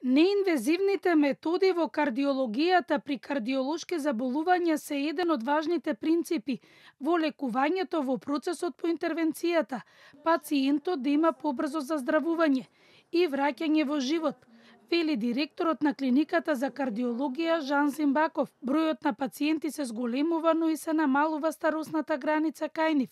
Неинвазивните методи во кардиологијата при кардиолошки заболувања се еден од важните принципи во лекувањето во процесот по интервенцијата, пациентот да има побрзо заздравување и враќање во живот, вели директорот на клиниката за кардиологија Жан Зимбаков. Бројот на пациенти се зголемува, но и се намалува старосната граница кај нив.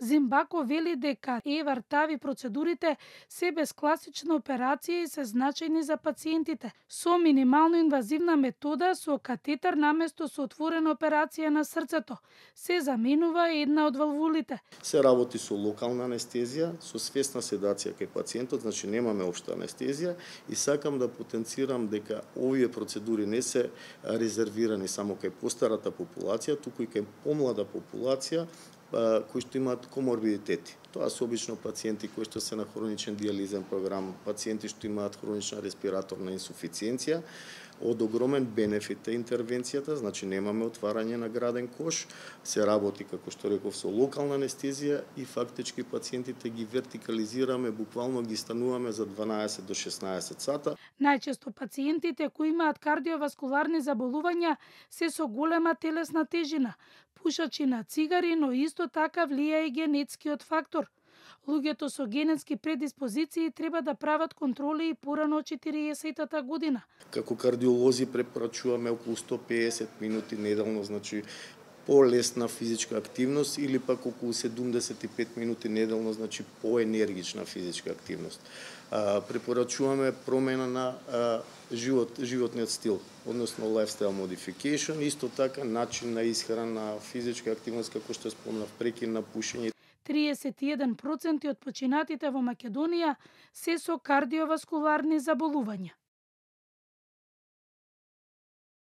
Зимбаков вели дека ЕВАР-ТАВИ процедурите се без класична операција и се значајни за пациентите. Со минимално инвазивна метода, со катетер наместо со отворена операција на срцето, се заменува една од валвулите. Се работи со локална анестезија, со свесна седација кај пациентот, значи немаме општа анестезија и сакам да потенцирам дека овие процедури не се резервирани само кај постарата популација, туку и кај помлада популација кои што имаат коморбидитети. Тоа се обично пациенти кои што се на хроничен диализен програм, пациенти што имаат хронична респираторна инсуфициенција. Од огромен бенефит е интервенцијата, значи немаме отварање на граден кош, се работи, како што реков, со локална анестезија и фактички пациентите ги вертикализираме, буквално ги стануваме за 12 до 16 сата. Најчесто пациентите кои имаат кардиоваскуларни заболувања се со голема телесна тежина, пушачи на цигари, но исто така влија и генетскиот фактор. Луѓето со генетски предиспозиции треба да прават контроли и порано од 40-тата година. Како кардиолози препорачуваме околу 150 минути неделно, значи полесна физичка активност или пак околу 75 минути неделно, значи поенергична физичка активност. Препорачуваме промена на животниот стил, односно lifestyle modification, исто така начин на исхрана, физичка активност, како што спомнав, прекин на пушење. 31% од починатите во Македонија се со кардиоваскуларни заболувања.